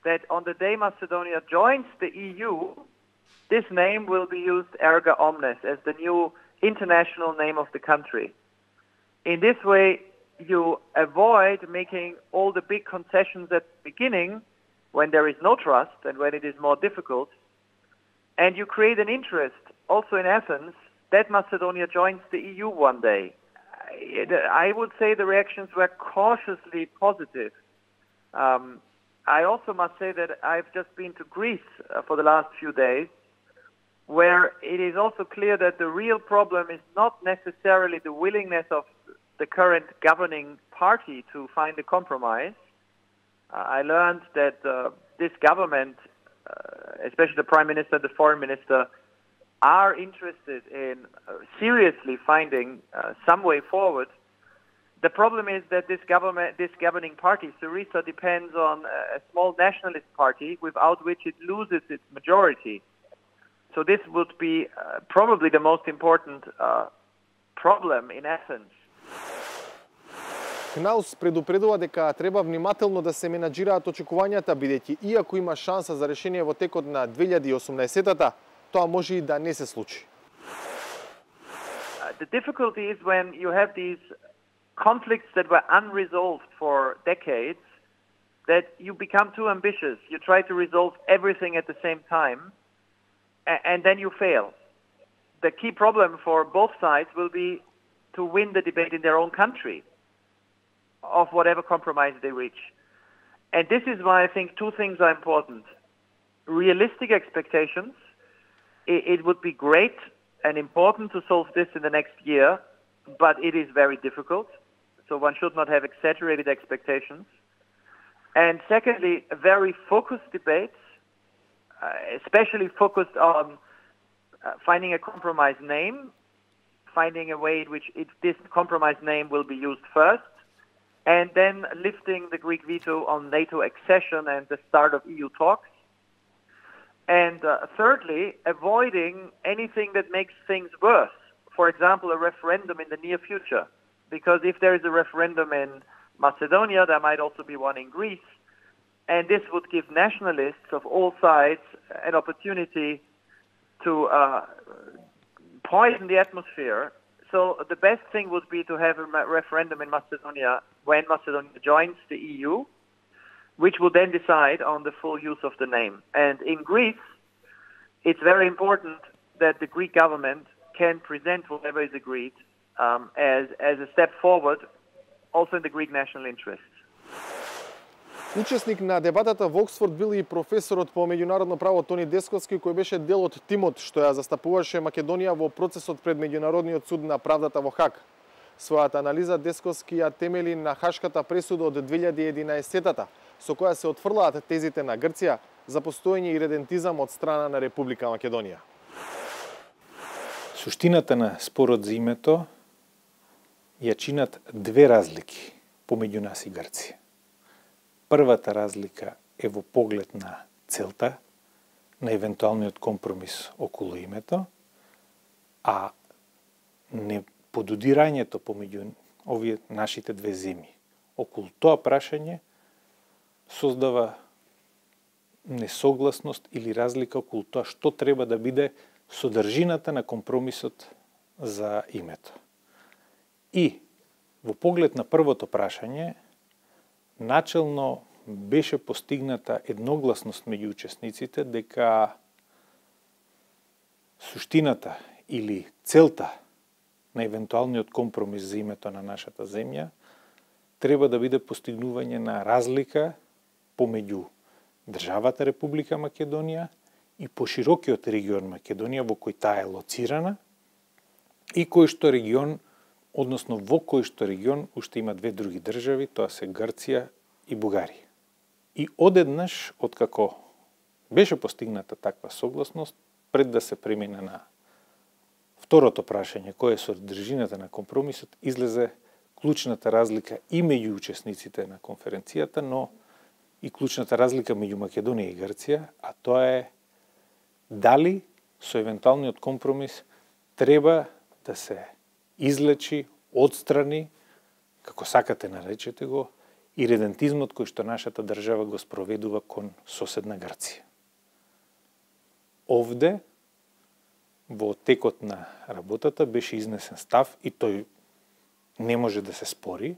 that on the day Macedonia joins the EU, this name will be used erga omnes as the new international name of the country. In this way, you avoid making all the big concessions at the beginning when there is no trust and when it is more difficult, and you create an interest also in Athens that Macedonia joins the EU one day. I would say the reactions were cautiously positive. I also must say that I've just been to Greece for the last few days, where it is also clear that the real problem is not necessarily the willingness of the current governing party to find a compromise. I learned that this government, especially the Prime Minister and the Foreign Minister, are interested in seriously finding some way forward. The problem is that this governing party, Syriza, depends on a small nationalist party without which it loses its majority. So this would be probably the most important problem in Athens. Кнаус предупредува дека треба внимателно да се менаџираат очекувањата, бидејќи иако има шанса за решение во текот на 2018-та, тоа може и да не се случи. The difficulty is when you have these conflicts that were unresolved for decades, that you become too ambitious. You try to resolve everything at the same time, and then you fail. The key problem for both sides will be to win the debate in their own country of whatever compromise they reach. And this is why I think two things are important. Realistic expectations. It would be great and important to solve this in the next year, but it is very difficult. So one should not have exaggerated expectations. And secondly, a very focused debate, especially focused on finding a compromise name, finding a way in which this compromise name will be used first, and then lifting the Greek veto on NATO accession and the start of EU talks. And thirdly, avoiding anything that makes things worse. For example, a referendum in the near future. because if there is a referendum in Macedonia, there might also be one in Greece, and this would give nationalists of all sides an opportunity to poison the atmosphere. So the best thing would be to have a referendum in Macedonia when Macedonia joins the EU, which will then decide on the full use of the name. And in Greece, it's very important that the Greek government can present whatever is agreed as a step forward, also in the Greek national interests. Учесник на дебатата во Оксфорд бил и професорот по меѓународно право Тони Десковски, кој беше дел од тимот што ја застапуваше Македонија во процесот пред Меѓународниот суд на правдата во Хаг. Својата анализа Десковски ја темели на Хашката пресуда од 2011-та, со која се отфрлаат тезите на Грција за постоење и редентизам од страна на Република Македонија. Суштината на спорот за името ја чинат две разлики помеѓу нас и Грција. Првата разлика е во поглед на целта, на евентуалниот компромис околу името, а не подудирањето помеѓу овие нашите две земји околу тоа прашање создава несогласност или разлика околу тоа што треба да биде содржината на компромисот за името. И во поглед на првото прашање, начелно беше постигната едногласност меѓу учесниците дека суштината или целта на евентуалниот компромис за името на нашата земја треба да биде постигнување на разлика помеѓу државата Република Македонија и поширокиот регион Македонија во кој таа е лоцирана и кој што регион, односно во кој што регион уште има две други држави, тоа се Грција и Бугарија. И одеднаш, откако беше постигната таква согласност, пред да се премине на второто прашање, кој е содржината на компромисот, излезе клучната разлика и меѓу учесниците на конференцијата, но и клучната разлика меѓу Македонија и Грција, а тоа е дали со евентуалниот компромис треба да се излечи, отстрани, како сакате наречете го, и редентизмот кој што нашата држава го спроведува кон соседна Грција. Овде, во текот на работата, беше изнесен став, и тој не може да се спори,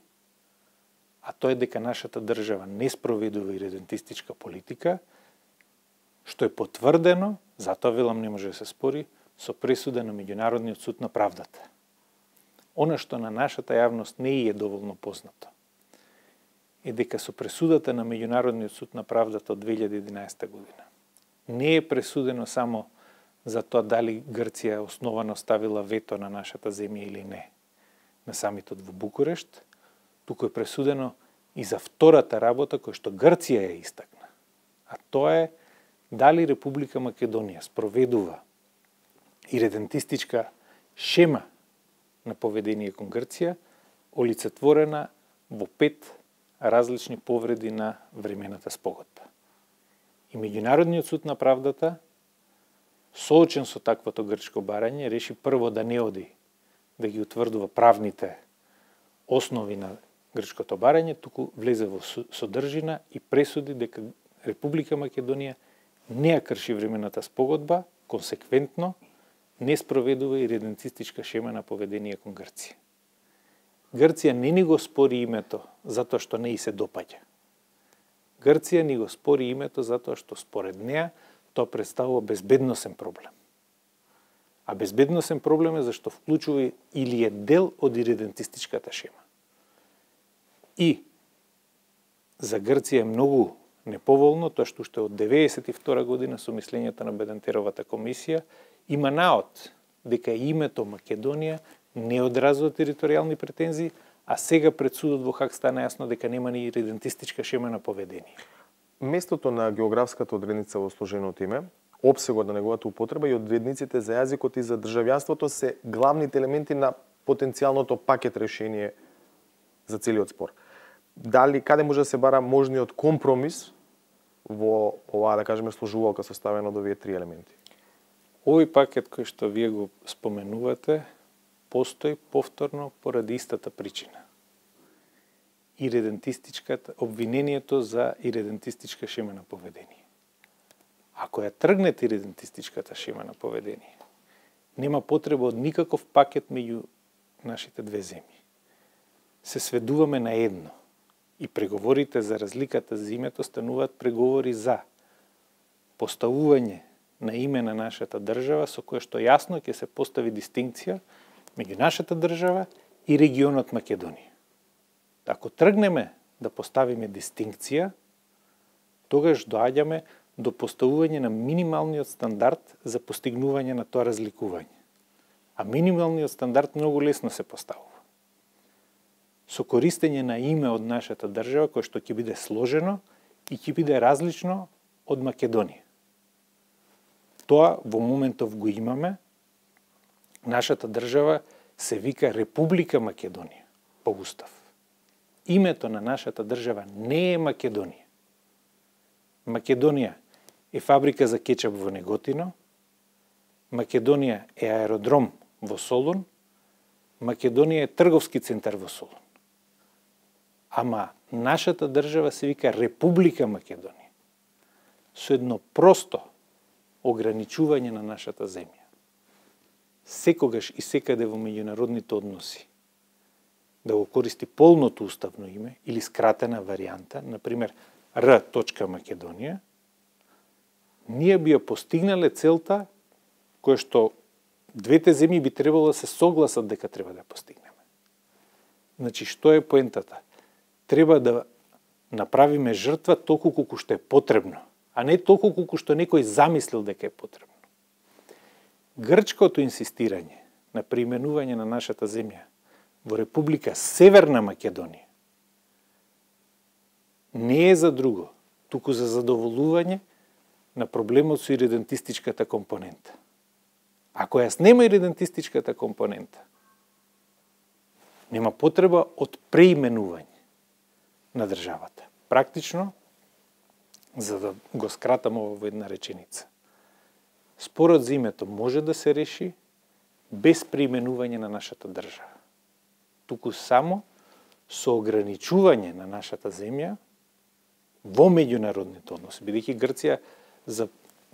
а тоа е дека нашата држава не спроведува и редентистичка политика, што е потврдено, затоа велам не може да се спори, со пресуда на Меѓународниот суд на правдата. Она што на нашата јавност не е доволно познато е дека со пресудата на Меѓународниот суд на правдата од 2011 година не е пресудено само за тоа дали Грција основано ставила вето на нашата земја или не на самитот во Букурешт, туку е пресудено и за втората работа која што Грција ја истакна. А тоа е дали Република Македонија спроведува и редентистичка шема на поведение кон Грција, олицетворена во 5 различни повреди на времената спогодба. И Меѓународниот суд на правдата, соочен со таквото грчко барање, реши прво да не оди да ги утврдува правните основи на грчкото барање, туку влезе во содржина и пресуди дека Република Македонија не ја крши времената спогодба, консеквентно не спроведува и редентистичка шема на поведение кон Грција. Грција не ни го спори името затоа што не и се допаѓа. Грција ни го спори името затоа што според неа тоа представува безбедносен проблем. А безбедносен проблем е зашто вклучува или е дел од иредентистичката шема. И за Грција е многу неповолно тоа што уште од 1992 година со мислењето на Бедентеровата комисија има наод дека името Македонија не одразува територијални претензии, а сега пред судот во Хаг стана јасно дека нема ни идентистичка шема на поведение. Местото на географската одредница во сложеното име, опсегот на неговата употреба и одредниците за јазикот и за државјанството се главните елементи на потенцијалното пакет решение за целиот спор. Дали каде може да се бара можниот компромис во оваа, да кажеме, сложувалка составена од овие 3 елементи? Овој пакет кој што вие го споменувате постои повторно поради истата причина. Обвинението за иредентистичка шема на поведение. Ако ја тргнете иредентистичката шема на поведение, нема потреба од никаков пакет меѓу нашите две земји. Се сведуваме на едно и преговорите за разликата за името стануваат преговори за поставување на име на нашата држава со кое што јасно ќе се постави дистинкција меѓу нашата држава и регионот Македонија. Ако тргнеме да поставиме дистинкција, тогаш доаѓаме до поставување на минималниот стандард за постигнување на тоа разликување. А минималниот стандард многу лесно се поставува. Со користење на име од нашата држава, кое што ќе биде сложено и ќе биде различно од Македонија. Тоа во моментов го имаме. Нашата држава се вика Република Македонија по устав. Името на нашата држава не е Македонија. Македонија е фабрика за кетчап во Неготино, Македонија е аеродром во Солун, Македонија е трговски центар во Солун. Ама нашата држава се вика Република Македонија. Со едно просто ограничување на нашата земја. Секогаш и секаде во меѓународните односи да го користи полното уставно име или скратена варијанта, например Р. Македонија, ние би ја постигнале целта која што двете земји би требало да се согласат дека треба да постигнеме. Значи, што е поентата? Треба да направиме жртва толку колку што е потребно, а не толку колку што некој замислил дека е потребно. Грчкото инсистирање на преименување на нашата земја во Република Северна Македонија не е за друго, туку за задоволување на проблемот со иредентистичката компонента. Ако јас нема иредентистичката компонента, нема потреба од преименување на државата. Практично, за да го скратам ово во една реченица, спорот за името може да се реши без преименување на нашата држава. Туку само со ограничување на нашата земја во меѓународните односи, бидејќи Грција за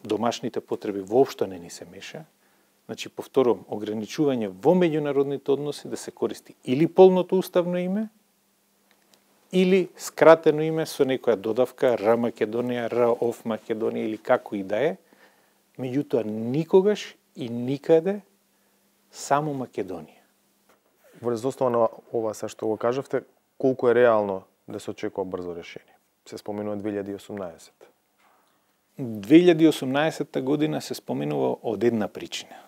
домашните потреби воопшто не ни се меша. Значи, повторувам, ограничување во меѓународните односи да се користи или полното уставно име, или скратено име со некоја додавка Р. Македонија, Р. ОФ Македонија или како и да е, меѓутоа никогаш и никаде само Македонија. Врз основа на ова се што го кажавте, колку е реално да се очекува брзо решение? Се споменува 2018. 2018 година се споменува од една причина,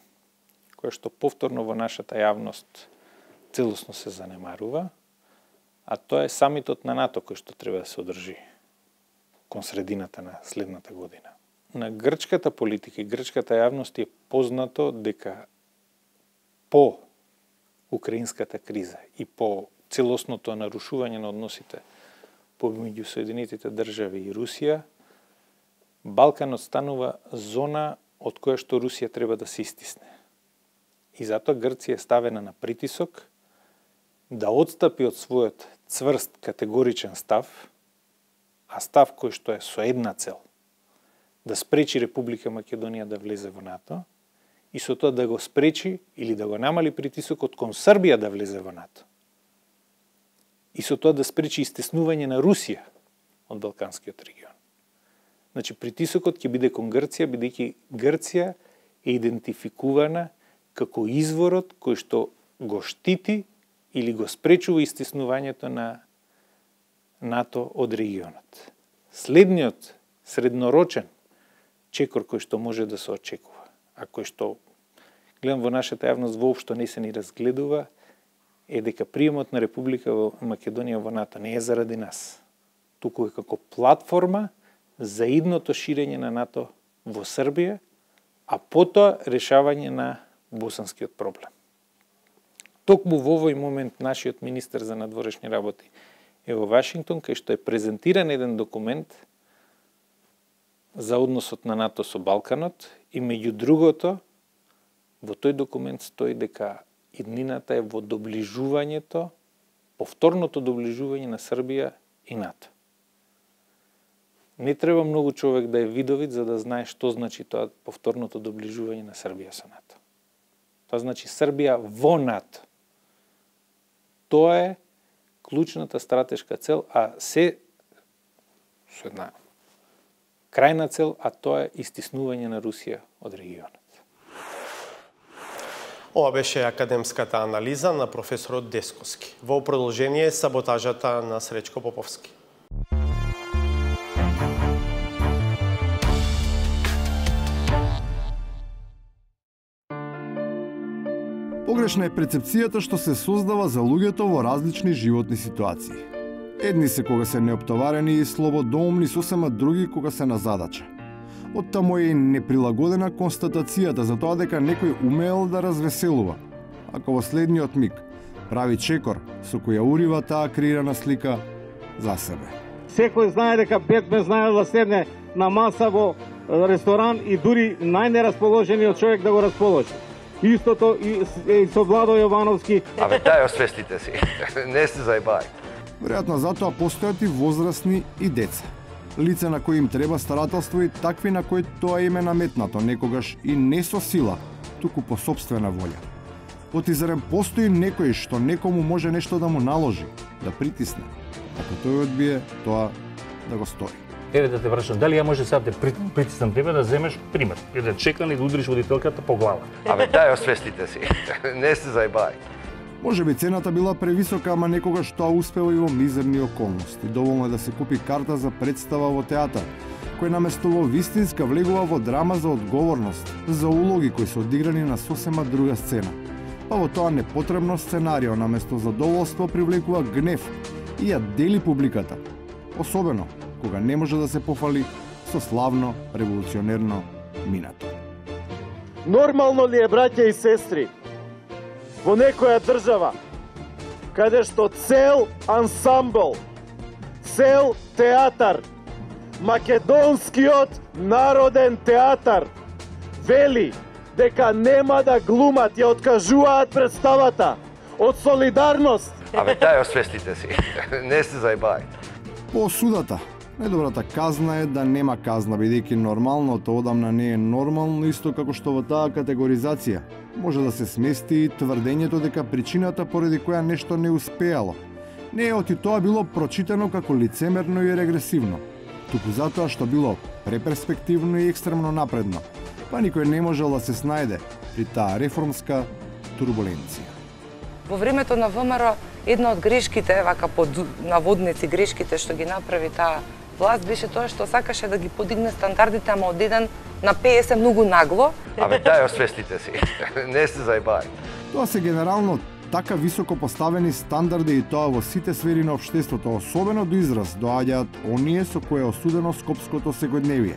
која што повторно во нашата јавност целосно се занемарува, а тоа е самитот на НАТО кој што треба да се одржи кон средината на следната година. На грчката политика и грчката јавност е познато дека по украинската криза и по целосното нарушување на односите помеѓу Соединетите држави и Русија, Балканот станува зона од која што Русија треба да се истисне. И затоа Грција е ставена на притисок да отстапи од својот цврст категоричен став, а став кој што е со една цел, да спречи Република Македонија да влезе во НАТО и со тоа да го спречи или да го намали притисокот кон Србија да влезе во НАТО. И со тоа да спречи истеснување на Русија од Балканскиот регион. Значи, притисокот ќе биде кон Грција, бидејќи Грција е идентификувана како изворот кој што го штити или го спречува истеснувањето на НАТО од регионот. Следниот среднорочен чекор кој што може да се очекува, а кој што гледам во нашата јавност воопшто не се ни разгледува, е дека приемот на Република Македонија во НАТО не е заради нас, туку е како платформа за идното ширење на НАТО во Србија, а потоа решавање на босанскиот проблем. Токму во овој момент нашиот министер за надворешни работи е во Вашингтон, кај што е презентиран еден документ за односот на НАТО со Балканот и меѓу другото во тој документ стои дека иднината е во доближувањето, повторното доближување на Србија и НАТО. Не треба многу човек да е видовит за да знае што значи тоа повторното доближување на Србија со НАТО. Тоа значи Србија во НАТО. Тоа е клучната стратешка цел, а се со една крајна цел, а тоа е истиснување на Русија од регионот. Ова беше академската анализа на професорот Десковски. Во продолжение саботажата на Сречко Поповски. Погрешна е перцепцијата што се создава за луѓето во различни животни ситуации. Едни се кога се неоптоварени и слободоумни, сосема други кога се на задача. Оттаму е и неприлагодена констатацијата за тоа дека некој умеел да развеселува, ако во следниот миг прави чекор со која урива таа креирана слика за себе. Секој знае дека Бетмен знае да седне на маса во ресторан и дури најнерасположениот човек да го расположи. Истото и со Владо Јовановски. Абе, тај освестите си. Не се заебај. Веројатно затоа постојат и возрастни и деца. Лица на кои им треба старателство и такви на кои тоа им е наметнато, некогаш и не со сила, туку по собствена волја. Оти зарем постои некој што некому може нешто да му наложи, да притисне, ако тој одбие тоа да го стори. Еве да те прашам, дали ја може сега да притиснам тебе да земеш пример, еден чекан и да удриш водителката по глава? Абе, тај освестите си. Не се заебај. Може би цената била превисока, ама некогаш тоа успева и во мизерни околности. Доволно е да се купи карта за представа во театар, кој наместо во вистинска влегува во драма за одговорност, за улоги кои се одиграни на сосема друга сцена. Па во тоа непотребно сценарио наместо задоволство привлекува гнев и ја дели публиката. Особено кога не може да се пофали со славно револуционерно минато. Нормално ли е, браќа и сестри, во некоја држава, каде што цел ансамбл, цел театар, Македонскиот народен театар, вели дека нема да глумат, ја откажуваат представата од солидарност. Абе, тај освестите си. Не се заебај. По осудата, најдобрата казна е да нема казна, бидејќи нормалното одамна не е нормално, исто како што во таа категоризација може да се смести и тврдењето дека причината поради која нешто не успеало не е оти тоа било прочитано како лицемерно и регресивно, туку затоа што било преперспективно и екстремно напредно, па никој не можел да се снајде при таа реформска турбуленција. Во времето на ВМРО една од грешките, вака под наводници грешките што ги направи таа власт, беше тоа што сакаше да ги подигне стандардите, ама од 1 на 50 многу нагло. Абе, тај освестите си. Не се заебај. Тоа се генерално така високо поставени стандарди и тоа во сите сфери на општеството, особено до израз доаѓаат оние со кои е осудено скопското секојдневие.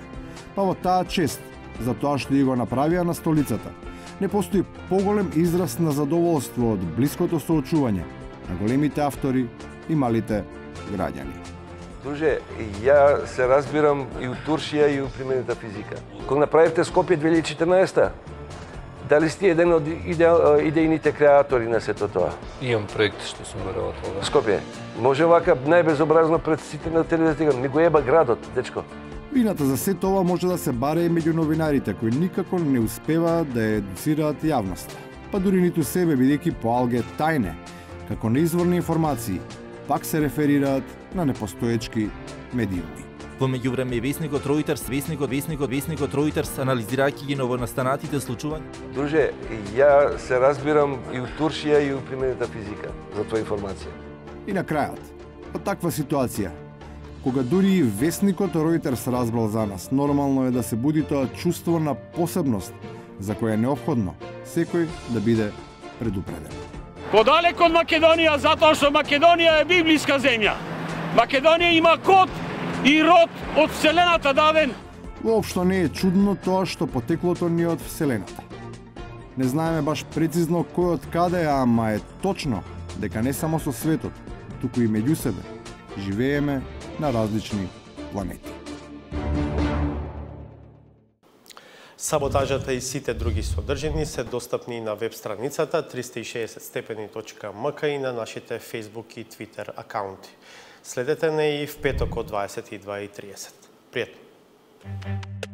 Па во таа чест, за тоа што ја го направија на столицата, не постои поголем израз на задоволство од блиското соочување на големите автори и малите граѓани. Друже, ја се разбирам и у Туршија и у применета физика. Кога направивте Скопје 2014, дали сте еден од идејните креатори на сето тоа? Имам проект што сум работел. Скопје, може вака најбезобразно пред сите на телевизија, ми го еба градот, дечко. Вината за сето ова може да се баре и меѓу новинарите, кои никако не успеваат да едуцираат јавноста. Па дури ниту себе, бидејќи по алге тајне, како неизворни информации, пак се реферираат на непостоечки медиуми. Во меѓувреме весникот Reuters, весникот Reuters, анализирајќи ги новонастанатите случувања. Друже, ја се разбирам и у Туршија и у применета физика за твоја информација. И на крајот, од таква ситуација, кога дури и весникот Reuters разбрал за нас, нормално е да се буди тоа чувство на посебност, за која е неопходно секој да биде предупреден. Подалек од Македонија, затоа што Македонија е библиска земја. Македонија има код и род од Вселената даден. Воопшто не е чудно тоа што потеклото ни од Вселената. Не знаеме баш прецизно кој од каде, ама е точно дека не само со светот, туку и меѓу себе живееме на различни планети. Саботажата и сите други содржини се достапни на веб страницата 360stepeni.mk и на нашите Facebook и Twitter акаунти. Следете не и в петок од 22:30. Пријатно!